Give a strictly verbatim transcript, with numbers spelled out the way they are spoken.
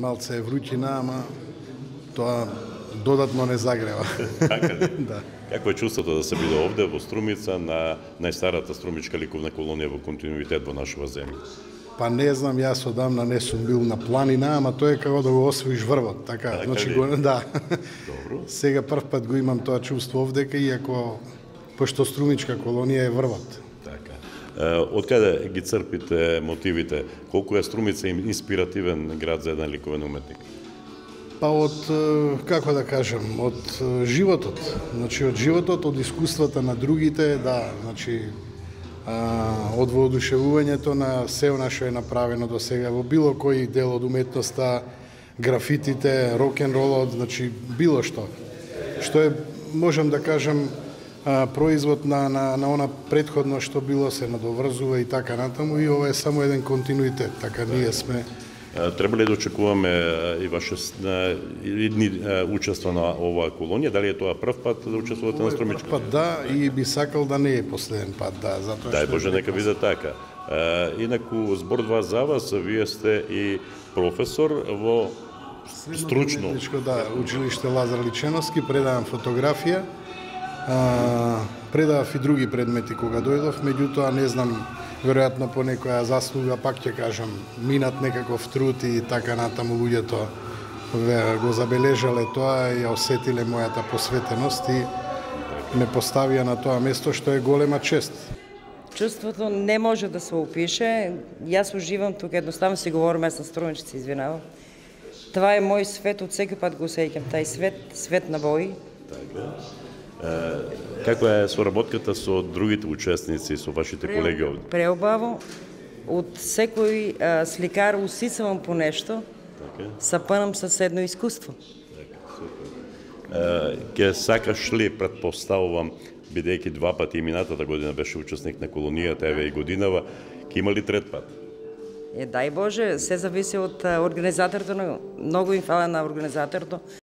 малце е вруќина, ама тоа додатно не загрева. Така ли? Да. Какво е чувството да се биде овде во Струмица на најстарата струмичка ликовна колонија во континуитет во нашава земја? Па не знам, јас одамна не сум бил на планина, ама тоа е како да го освоиш врвот, така, Така значи ли? го, да. Добро. Сега прв пат го имам тоа чувство овдека, иако пошто струмичка колонија е врвот. Така. Од каде ги црпите мотивите? Колку е Струмица инспиративен град за еден ликовен уметник? Па од, како да кажам, од животот. Значи, од животот, од искуствата на другите, да, значи, а, од воодушевувањето на се она што е направено до сега во било кој дел од уметноста, графитите, рок-н-ролот, значи, било што. Што е, можам да кажам, а, производ на, на, на она предходно што било, се надоврзува и така натаму, и ова е само еден континуитет, така ние сме. Треба ли да очекуваме и ваше идни учество на оваа колонија? Дали е тоа прв пат да учествувате на Струмичка? Прв пат да, и би сакал да не е последен пат, да, затоа Дај што... Боже, нека биде така. Инаку, збор два за вас, вие сте и професор во стручно... Средно да, училиште Лазар Личеновски, предавам фотографија, а, предавав и други предмети кога дојдов, меѓутоа не знам, веројатно по некоја заслуга, пак ќе кажам, минат некаков труд и така натаму луѓето го забележале тоа и ја осетиле мојата посветеност и ме поставија на тоа место, што е голема чест. Чувството не може да се опише. Јас уживам тука, едноставно си говорам, јас на струмичци, извинавам. Това е мој свет, од секој пат го осеќам тај свет, свет на бои. Така. Каква е соработката со другите учесници, со вашите колеги овде? Преубаво. Од секој а, сликар усисавам по нешто, Така. сапанам со едно искуство. Така, супер. Ке сакаш ли, предпоставувам, бидејќи два пати и минатата година беше учесник на колонијата, еве и годинава, ке има ли трет пат? Е, дај Боже, се зависи од организаторот, многу им фала на организаторот,